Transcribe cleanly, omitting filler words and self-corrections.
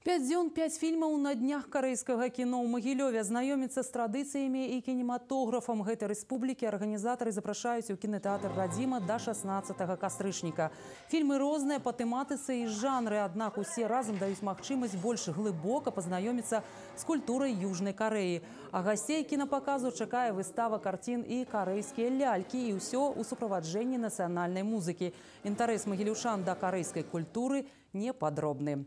5 дзён, 5 фільмаў на днях карэйскага кіно ў Магілёве. Знаёміцца з традыцыямі і кінематографам гэтай рэспублікі арганізатары запрашаюць у кінотэатр «Радзіма» да 16 кастрычніка. Фільмы розныя па тэматыцы і жанры, аднак усе разам даюць магчымасць больш глыбока пазнаёміцца з культурай Южнай Карэі. А гасцей кінапаказу чакае выстава карцін і карэйскія лялькі, і ўсё ў суправаджэнні нацыянальнай музыкі. Інтарэс магілюшан да карэйскай культуры непадробны.